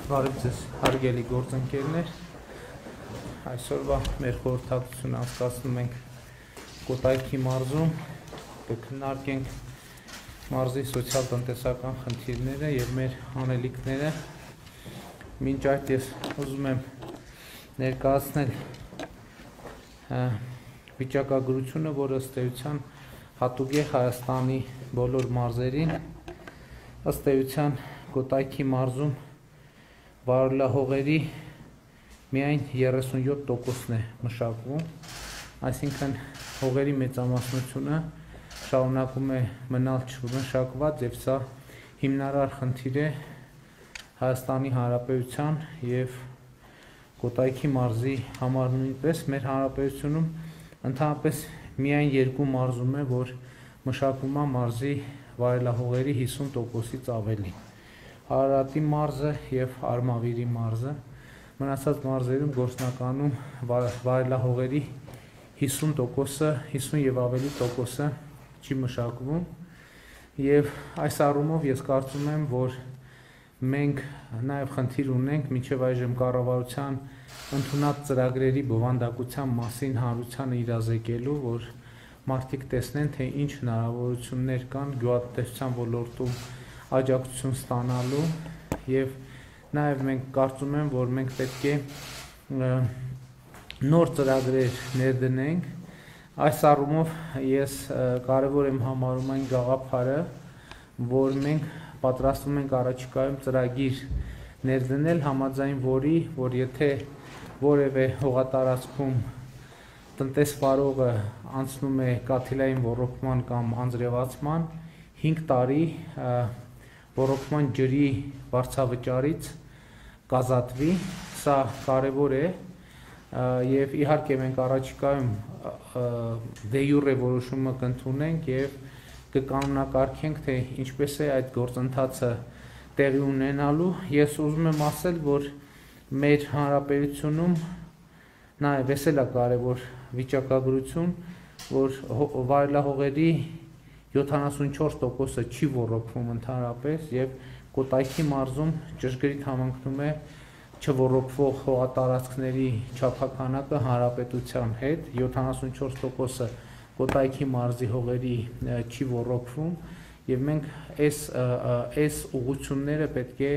Բարև ձեզ հարգելի գործընկերներ, այսօրվա մեր խորհրդակցությունը անցկացնում ենք Կոտայքի մարզում, կքննարկենք մարզի սոցիալ-տնտեսական խնդիրները եւ մեր անելիքները։ Մինչ այդ ես ուզում եմ ներկայացնել վիճակագրությունը, որը ըստ էության հատուկ է Հայաստանի բոլոր մարզերին, ըստ էության Կոտայքի մարզում վարելահողերի միայն 37%-ն է մշակվում, այսինքն հողերի մեծամասնությունը շարունակում է մնալ չմշակված եւ սա հիմնարար խնդիր է Հայաստանի Հանրապետության եւ Կոտայքի մարզի համար նույնպես մեր հանրապետությունում ընդհանրապես միայն երկու մարզում է, որ մշակվում է մարզի վարելահողերի 50%-ից ավելի։ Արարատի մարզը եւ Արմավիրի մարզը, մնացած մարզերում գործնականում վարելահողերի 50%-ը, 50 եւ ավելի տոկոսը չի մշակվում եւ այս առումով ես կարծում եմ, որ մենք նաեւ խնդիր ունենք մինչեւ այժմ կառավարության ընդունած ծրագրերի բովանդակության մասին հանրությանը իրազեկելու, որ մարդիկ տեսնեն, թե ինչ հնարավորություններ կան գյուղատնտեսության ոլորտում աջակցություն ստանալու եւ նաեւ մենք կարծում եմ, որ մենք պետք է նոր ծրագրեր ներդնենք։ Այս առումով ես կարևոր եմ համարում այն գաղափարը, որ մենք պատրաստվում ենք առաջիկայում ծրագիր ներդնել, համաձայն որի, որ եթե որևէ հողատարածքում տնտեսվարողը անցնում է կաթիլային ոռոգման կամ անձրևացման 5 տարի ոռոգման ջրի վարձավճարից կազատվի, սա կարևոր է եւ իհարկե մենք առաջիկայում դե յուրե որոշումը կընդունենք եւ կկանոնակարգենք, թե ինչպես է այդ գործընթացը տեղի ունենալու։ Ես ուզում եմ ասել, որ մեր հանրապետությունում նաեւ էսել է կարևոր վիճակագրություն, որ վարելահողերի 74%-ը չի ոռոգվում ընդհանրապես եւ Կոտայքի մարզում ճշգրիտ համընկնում է չոռոգվող հողատարածքների չափաքանակը հանրապետության հետ, 74%-ը Կոտայքի մարզի հողերի չի ոռոգվում եւ մենք այս ուղղությունները պետք է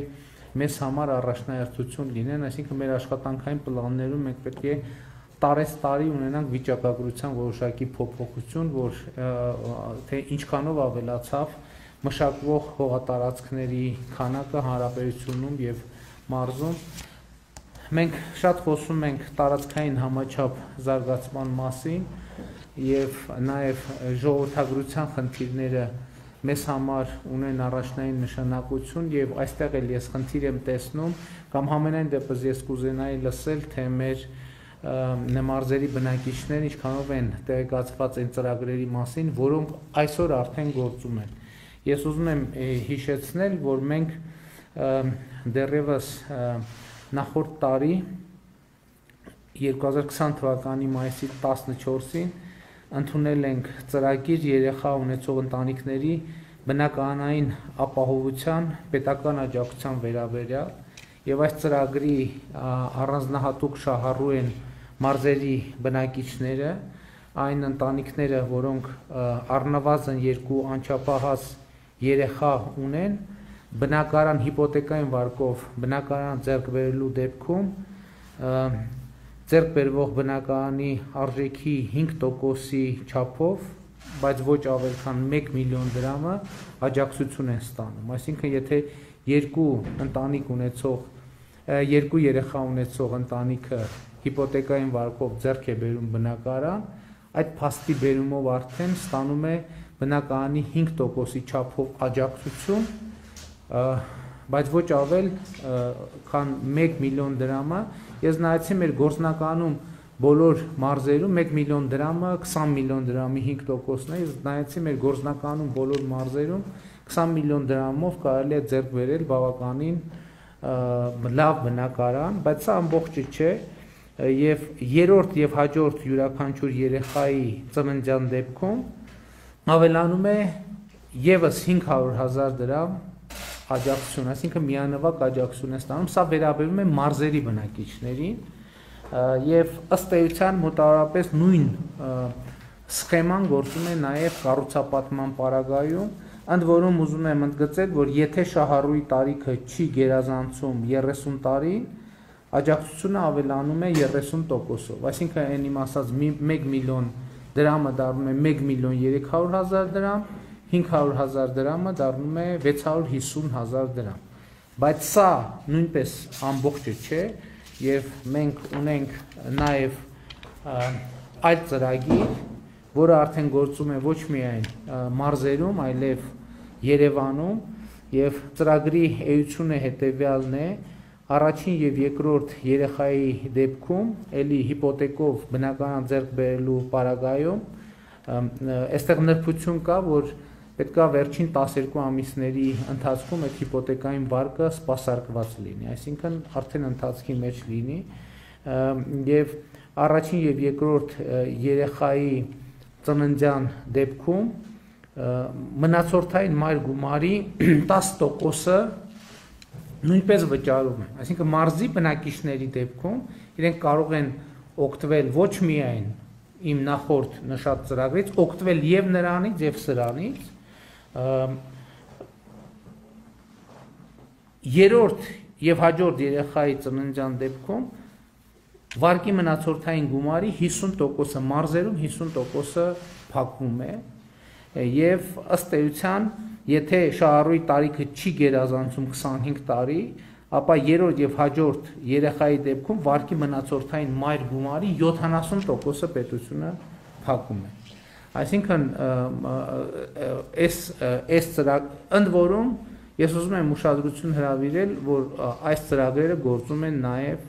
մեզ համար առաջնահերթություն լինեն, այսինքն մեր աշխատանքային պլաններում մենք պետք է տարեցտարի ունենանք վիճակագրության որոշակի փոփոխություն, որ թե ինչքանով ավելացավ մշակվող հողատարածքների քանակը հանրապետությունում եւ մարզում։ Մենք շատ խոսում ենք տարածքային համաչափ զարգացման մասին եւ նաեւ ժողովրդագրության խնդիրները մեզ համար ունեն առաջնային նշանակություն եւ այստեղ էլ ես խնդիր եմ տեսնում կամ համենայն դեպս ես կուզենայի լսել, թե մեր մարզերի բնակիչները ինչքանով են տեղեկացված այն ծրագրերի մասին, որոնք այսօր արդեն գործում են։ Ես ուզում եմ հիշեցնել, որ մենք դեռևս նախորդ տարի 2020 թվականի մայիսի 14-ին ընդունել ենք ծրագիր երեխա ունեցող ընտանիքների բնակարանային ապահովության պետական աջակցության վերաբերյալ եւ այս ծրագրի առանձնահատուկ շահառու են մարզերի բնակիչները, այն ընտանիքները, որոնք առնվազն 2 անչափահաս երեխա ունեն, բնակարան հիպոթեկային վարկով բնակարան ձեռք բերելու դեպքում ձեռք բերվող բնակարանի արժեքի 5%-ի չափով, բայց ոչ ավել քան 1 միլիոն դրամը աջակցություն են ստանում։ Այսինքն, եթե երկու երեխա ունեցող ընտանիքը հիպոթեկային վարկով ձեռք է բերում բնակարան, այդ փաստի բերումով արդեն ստանում է բնակարանի 5%-ի չափով աջակցություն, բայց ոչ ավել քան 1 միլիոն դրամը։ Ես նայեցի մեր գործնականում բոլոր մարզերում 1 միլիոն դրամը 20 միլիոն դրամի 5%-ն է, ես նայեցի մեր գործնականում բոլոր մարզերում 20 միլիոն դրամով կարելի է ձեռք բերել բավականին լավ բնակարան, բայց սա ամբողջը չէ եւ երրորդ եւ հաջորդ յուրաքանչյուր երեխայի ծննդյան դեպքում ավելանում է եւս 500,000 դրամ աջակցություն, այսինքն միանվագ աջակցություն է ստանում, սա վերաբերում է մարզերի բնակիչներին եւ ըստ էության մոտավորապես նույն սխեման գործում է նաեւ կառուցապատման պարագայում, ընդ որում ուզում եմ ընդգծել, որ եթե շահառուի տարիքը չի գերազանցում 30 տարին, աջակցությունը ավելանում է 30%-ով, այսինքն այն իմ ասած 1 միլիոն դրամը դառնում է 1.3 միլիոն դրամ, 500,000 դրամը դառնում է 650,000 դրամ, բայց սա նույնպես ամբողջը չէ եւ մենք ունենք նաեւ այլ ծրագիր, որը արդեն գործում է ոչ միայն մարզերում, այլև Երևանում եւ ծրագրի էությունը հետեւյալն է. առաջին եւ երկրորդ երեխայի դեպքում էլի հիպոթեկով բնակարան ձեռք բերելու պարագայում այստեղ նրբություն կա, որ պետքա վերջին 12 ամիսների ընթացքում այդ հիպոթեկային վարկը սպասարկված լինի, այսինքն արդեն ընթացքի մեջ լինի եւ առաջին եւ երկրորդ երեխայի ծննդյան դեպքում մնացորդային մայր գումարի 10%-ը նույնպես վճարում է, այսինքն մարզի բնակիչների դեպքում իրենք կարող են օգտվել ոչ միայն իմ նախորդ նշած ծրագրից, օգտվել եւ նրանից եւ սրանից, երրորդ եւ հաջորդ երեխայի ծննդյան դեպքում վարկի մնացորդային գումարի 50%-ը մարզերում 50%-ը փակվում է եւ ըստ էության եթե շահառուի տարիքը չի գերազանցում 25 տարի, ապա երրորդ եւ հաջորդ երեխայի դեպքում վարկի մնացորդային մայր գումարի 70%-ը պետությունը փակում է։ Այսինքն այս ընդ որում ես ուզում եմ ուշադրություն հրավիրել, որ այս ծրագրերը գործում են նաեւ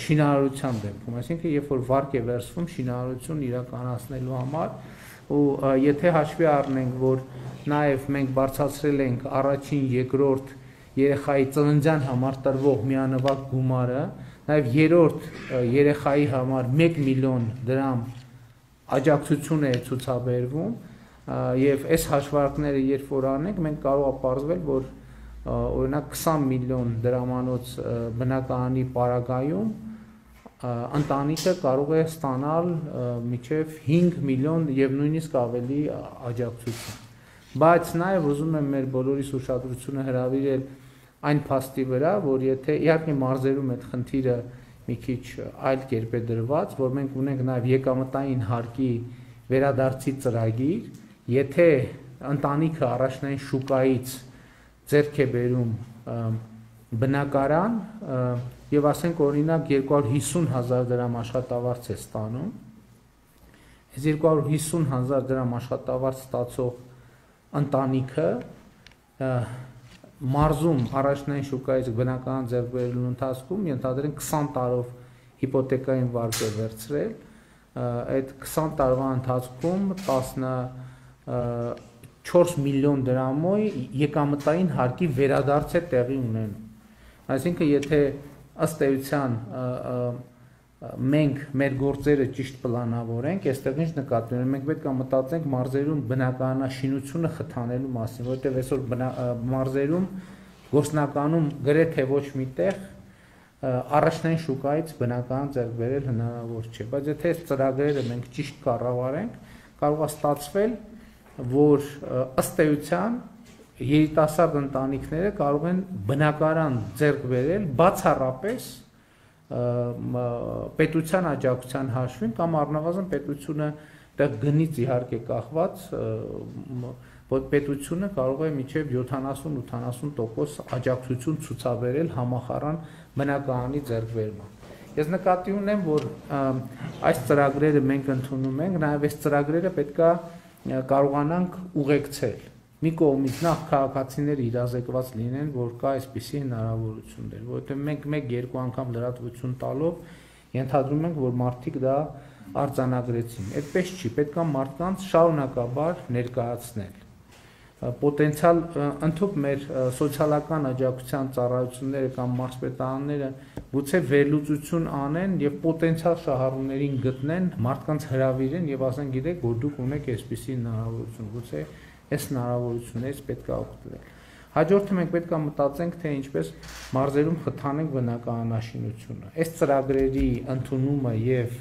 շինարարության դեպքում, այսինքն երբ որ վարկ է վերցվում շինարարություն իրականացնելու համար, ու եթե հաշվի առնենք, որ նաև մենք բարձրացրել ենք առաջին, երկրորդ երեխայի ծննդյան համար տրվող միանվագ գումարը, նաև երրորդ երեխայի համար 1 միլիոն դրամ աջակցություն է ցուցաբերվում, եւ այս հաշվարկները երբ որ անենք, մենք կարող է պարզվել, որ օրինակ 20 միլիոն դրամանոց բնակարանի պարագայում ընտանիքը կարող է ստանալ մինչև 5 միլիոն եւ նույնիսկ ավելի աջակցություն։ Բայց նաեւ ուզում եմ մեր բոլորիս ուշադրությունը հրավիրել այն փաստի վրա, որ եթե իհարկե մարզերում այդ խնդիրը մի քիչ այլ կերպ է դրված, որ մենք ունենք նաեւ եկամտային հարկի վերադարձի ծրագիր, եթե ընտանիքը առաջնային շուկայից ձեռք է բերում բնակարան եւ ասենք օրինակ 250,000 դրամ աշխատավարձ է ստանում, այս 250,000 դրամ աշխատավարձ ստացող ընտանիքը մարզում առաջնային շուկայից բնակարան ձեռք բերելու ընթացքում ենթադրենք 20 տարով հիպոթեկային վարկ է վերցրել, այդ 20 տարվա ընթացքում 14 միլիոն դրամով եկամտային հարկի վերադարձ է տեղի ունենում։ Այսինքն եթե ըստ էության մենք մեր գործերը ճիշտ պլանավորենք, այստեղ ինչ նկատի ունենք, մենք պետք է մտածենք մարզերում բնակարանաշինությունը խթանելու մասին, որովհետև այսօր մարզերում գործնականում գրեթե ոչ միտեղ առաջնային շուկայից բնակարան ձեռք բերել հնարավոր չէ, բայց եթե այս ծրագրերը մենք ճիշտ կառավարենք, կարող է ստացվել, որ ըստ էության երիտասարդ ընտանիքները կարող են բնակարան ձեռք բերել բացառապես պետության աջակցության հաշվին կամ առնվազն պետությունը դեռ գնից իհարկե կախված, որ պետությունը կարող է մինչև 70-80% աջակցություն ցուցաբերել համախառն բնակարանի ձեռքբերման։ Ես նկատի ունեմ, որ այս ծրագրերը մենք ընդունում ենք, նաև այս ծրագրերը պետքա կարողանանք ուղեկցել։ Մի կողմից նախ քաղաքացիները իրազեկված լինեն, որ կա այսպիսի հնարավորություններ, որովհետև մենք մեկ-երկու անգամ լրատվություն տալով ենթադրում ենք, որ մարդիկ դա արձանագրեցին։ Այդպես չի, պետք է մարդկանց շարունակաբար ներկայացնել։ Պոտենցիալ ընդհանուր մեր սոցիալական աջակցության ծառայությունները կամ մարզպետարանները գուցե վերլուծություն անեն եւ պոտենցիալ շահառուներին գտնեն, մարդկանց հրավիրեն եւ ասեն, գիտեք, որ դուք ունեք այսպիսի հնարավորություն, գուցե այս հնարավորություններից պետք է օգտվել։ Հաջորդը մենք պետք է մտածենք, թե ինչպես մարզերում խթանենք բնակարանաշինությունը։ Այս ծրագրերի ընդունումը եւ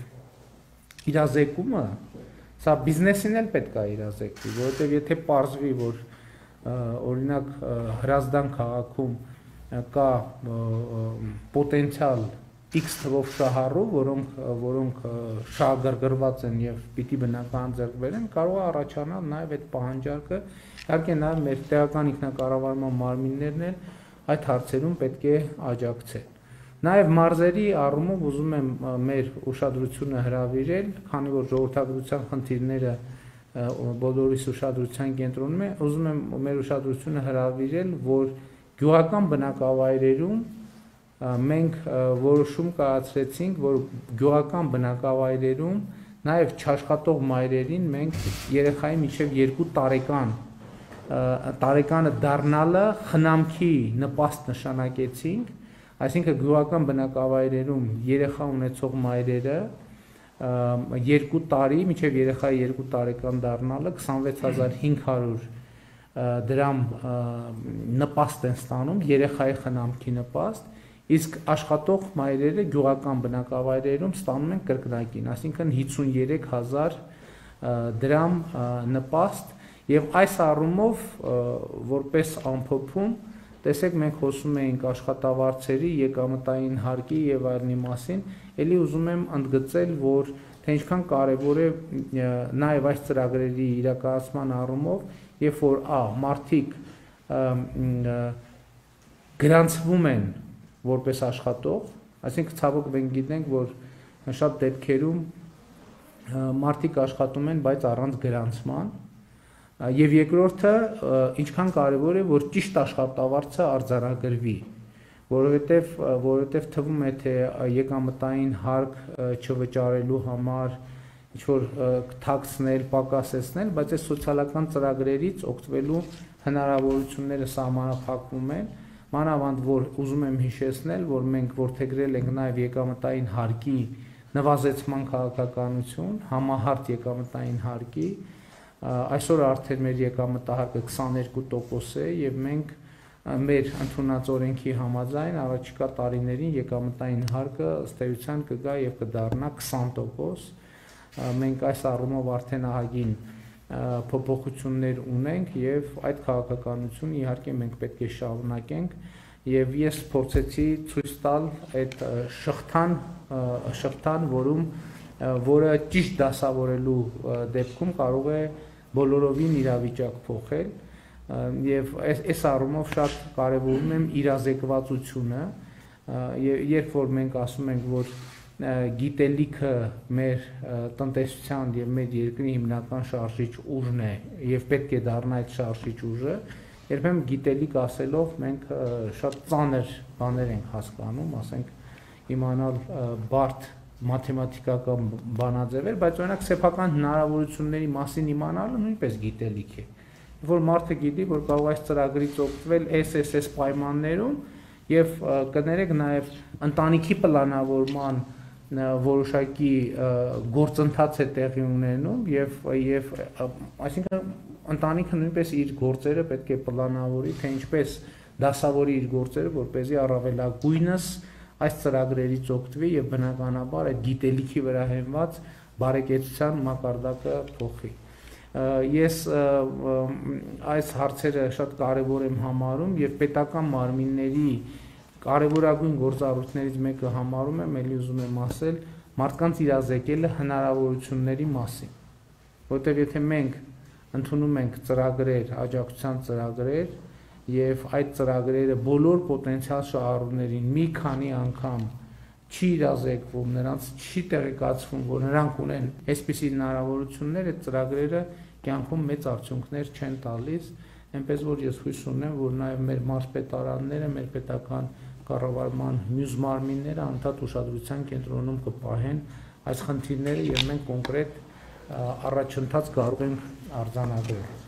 իրազեկումը սա բիզնեսին էլ պետք է իրազեկվի, որովհետեւ եթե պարզվի, որ օրինակ Հրազդան քաղաքում կա պոտենցիալ X թվով շահառու, որոնք շահագրգռված են եւ պիտի բնական ձեռք բերեն, կարող է առաջանալ նաեւ այդ պահանջարկը, իհարկե նաեւ մեր տեղական ինքնակառավարման մարմիններն էլ այդ հարցերում պետք է աջակցեն։ Նաեւ մարզերի առումով ուզում եմ մեր ուշադրությունը հրավիրել, քանի որ ժողովրդագրության խնդիրները բոլորիս ուշադրության կենտրոնում է, ուզում եմ մեր ուշադրությունը հրավիրել, որ գյուղական բնակավայրերում մենք որոշում կայացրեցինք, որ գյուղական բնակավայրերում նաև չաշխատող մայրերին մենք երեխայի մինչև 2 տարեկանը դառնալը խնամքի նպաստ նշանակեցինք, այսինքն գյուղական բնակավայրերում երեխա ունեցող մայրերը 2 տարի մինչև երեխայի 2 տարեկան դառնալը 26500 դրամ նպաստ են ստանում, երեխայի խնամքի նպաստ, իսկ աշխատող մայրերը գյուղական բնակավայրերում ստանում են կրկնակին, այսինքն 53000 դրամ նպաստ, եւ այս առումով որպես ամփոփում, տեսեք մենք խոսում էինք աշխատավարձերի, եկամտային հարկի եւ այլնի մասին, ելի ուզում եմ ընդգծել, որ թե ինչքան կարեւոր է նաեւ այս ծրագրերի իրականացման առումով, երբ որ մարդիկ գրանցվում են որպես աշխատող, այսինքն ցավոք մենք գիտենք, որ շատ դեպքերում մարդիկ աշխատում են, բայց առանց գրանցման, եւ երկրորդը ինչքան կարեւոր է, որ ճիշտ աշխատավարձը արձանագրվի, որովհետեւ թվում է, թե եկամտային հարկ չվճարելու համար ինչ որ թաքցնել, պակասեցնել, բայց այս սոցիալական ծրագրերից օգտվելու հնարավորությունները սահմանափակվում են, մանավանդ որ ուզում եմ հիշեցնել, որ մենք որդեգրել ենք նաև եկամտային հարկի նվազեցման քաղաքականություն, համահարթ եկամտային հարկի, այսօր արդեն մեր եկամտահարկը 22% է եւ մենք մեր ընդունած օրենքի համաձայն առաջիկա տարիներին եկամտային հարկը ըստ էության կգա եւ կդառնա 20%, մենք այս առումով արդեն ահագին փոփոխություններ ունենք եւ այդ քաղաքականությունը իհարկե մենք պետք է շարունակենք եւ ես փորձեցի ցույց տալ այդ շղթան, որը ճիշտ դասավորելու դեպքում կարող է բոլորովին իրավիճակ փոխել եւ այս առումով շատ կարեւորում եմ իրազեկվածությունը երբ որ մենք ասում ենք որ գիտելիքը մեր տնտեսության եւ մեր երկրի հիմնական շարժիչ ուժն է եւ պետք է դառնա այդ շարժիչ ուժը, երբեմն գիտելիք ասելով մենք շատ ծանր բաներ ենք հասկանում, ասենք իմանալ բարդ մաթեմատիկական բանաձևեր, բայց օրինակ սեփական հնարավորությունների մասին իմանալը նույնպես գիտելիք է։ Որ մարդը գիտի, որ կարող է այս ծրագրից օգտվել SSS պայմաններում եւ կներեք նաեւ ընտանիքի պլանավորման որոշակի գործընթաց է տեղի ունենում եւ այսինքն ընտանիքը նույնպես իր գործերը պետք է պլանավորի, թե ինչպես դասավորի իր գործերը, որպեսզի առավելագույնս այս ծրագրերից օգտվի եւ բնականաբար այդ գիտելիքի վրա հենված բարեկեցության մակարդակը փոխի։ Ես այս հարցերը շատ կարեւոր եմ համարում եւ պետական մարմինների կարևորագույն գործառույթներից մեկը համարում եմ, ելի ուզում եմ ասել, մարդկանց իրազեկելը հնարավորությունների մասին, որտեղ եթե մենք ընդունում ենք ծրագրեր, աջակցության ծրագրեր եւ այդ ծրագրերը բոլոր պոտենցիալ շահառուներին մի քանի անգամ չի իրազեկվում, նրանց չի տեղեկացվում, որ նրանք ունեն այսպիսի հնարավորություններ, այդ ծրագրերը կյանքում մեծ արդյունքներ չեն տալիս, այնպես որ ես հույս ունեմ, որ նաեւ մեր մարզպետարանները, մեր պետական կառավարման մյուս մարմինները անդադար ուշադրության կենտրոնում կպահեն այս խնդիրները եւ մենք կոնկրետ առաջընթաց կարող ենք արձանագրել։